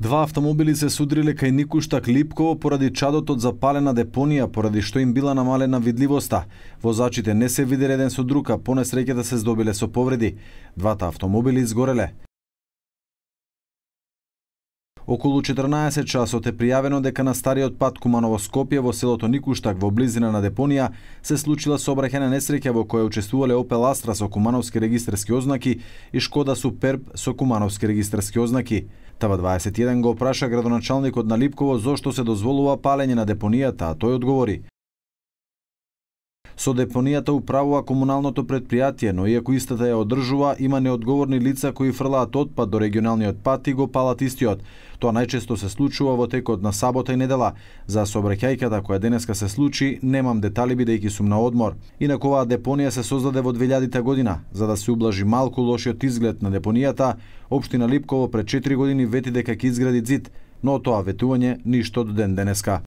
Два автомобили се судриле кај Никуштак Липково поради чадот од запалена депонија, поради што им била намалена видливоста. Возачите не се виделе еден со друг, а по несреќата се здобиле со повреди. Двата автомобили изгореле. Околу 14 часот е пријавено дека на стариот пат Куманово-Скопје во селото Никуштак во близина на депонија се случила сообраќајна несреќа во која учествувале Opel Astra со кумановски регистарски ознаки и Шкода Суперб со кумановски регистарски ознаки. Тава 21 го опраша градоначалникот на Липково зошто се дозволува палење на депонијата, а тој одговори: со депонијата управува комуналното предпријатие, но иако истата ја одржува, има неодговорни лица кои фрлаат отпад до регионалниот пат и го палат истиот. Тоа најчесто се случува во текот на сабота и недела. За сообраќајката која денеска се случи, немам детали бидејќи сум на одмор. Инаку оваа депонија се создаде во 2000 година. За да се ублажи малку лошиот изглед на депонијата, Општина Липково пред 4 години вети дека ќе изгради ѕид, но тоа ветување ништо до ден денеска.